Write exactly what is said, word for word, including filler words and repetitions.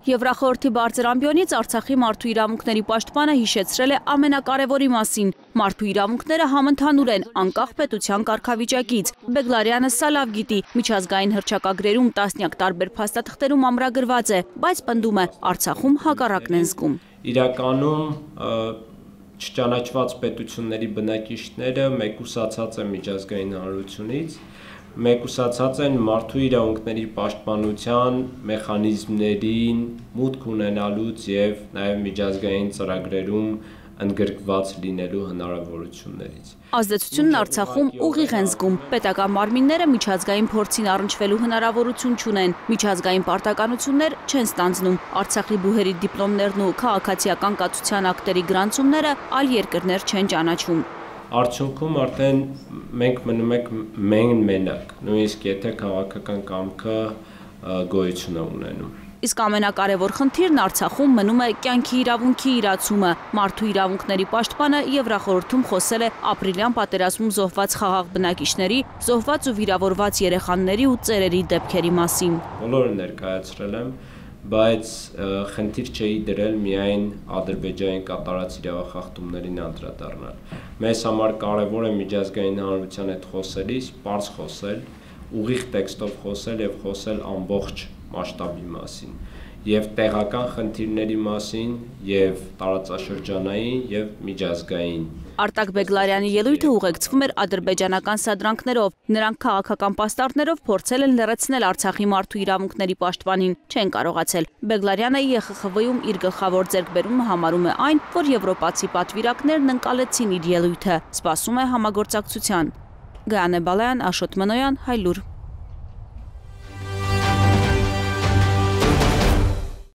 Եվրախորհրդի բարձր ամբիոնից Արցախի մարդու իրավունքների պաշտպանը հիշեցրել է ամենակարևորի մասին։ Մարդու իրավունքները համընդհանուր են, անկախ պետության կարգավիճակից։ Բեգլարյանը սա լավ գիտի, միջազգային հռչակագրերում տասնյակ տարբեր փաստաթղթերում ամրագրված է, բայց պնդում է, Արցախում հակառակն են զգում։ Իրականում չճանաչված պետությունների բնակիչները մեկուսացած են միջազգային հանրությունից, մեկուսացած են մարդու իրավունքների պաշտպանության մեխանիզմներին մուտք ունենալուց և նաև միջազգային ծրագրերում ընդգրկված լինելու հնարավորություններից։ Ազդեցությունն Արցախում ուղիղ են զգում, պետական մարմինները միջազգային փորձին առնչվելու հնարավորություն չունեն, միջազգային պարտականություններ չեն ստանձնում, Արցախի բուհերի դիպլոմներն ու քաղաքացիական կացության ակտերի գրանցումները այլ երկրներ չեն ճանաչում։ Արդյունքում արդեն մենք մնում ենք մենակ, նույնիսկ եթե քաղաքական կամքը գոյություն է ունենում։ Իսկ ամենակարևոր խնդիրն Արցախում մնում է կյանքի իրավունքի իրացումը։ Մարդու իրավունքների պաշտպանը Եվրախորհրդում խոսել է ապրիլյան պատերազմում զոհված խաղաղ բնակիչների, զոհված ու վիրավորված երեխաների ու ծերերի դեպքերի մասին։ Բոլորը ներկայացրել եմ, բայց խնդիր չէի դրել միայն Ադրբեջանի կատարած իրավախախտումներին անդրադառնալ։ Մեզ համար կարևոր է միջազգային հանրության հետ խոսելիս պարզ խոսել, ուղիղ տեքստով խոսել և խոսել ամբողջ մասշտաբի մասին, և տեղական խնդիրների մասին, և տարածաշրջանային, և միջազգային։ Արտակ Բեգլարյանի ելույթը ուղեկցվում էր ադրբեջանական սադրանքներով, նրանք քաղաքական պաստառներով փորձել են լռեցնել Արցախի մարդու իրավունքների պաշտպանին, չեն կարողացել։ Բեգլարյանը Է Խ Խ V-ում իր գլխավոր ձեռքբերումը համարում է այն, որ եվրոպացի պատվիրակներն ընկալեցին իր ելույթը, սպասում է համագործակցության։ Գայանե Բալայան, Աշոտ Մնոյան, Հայլուր։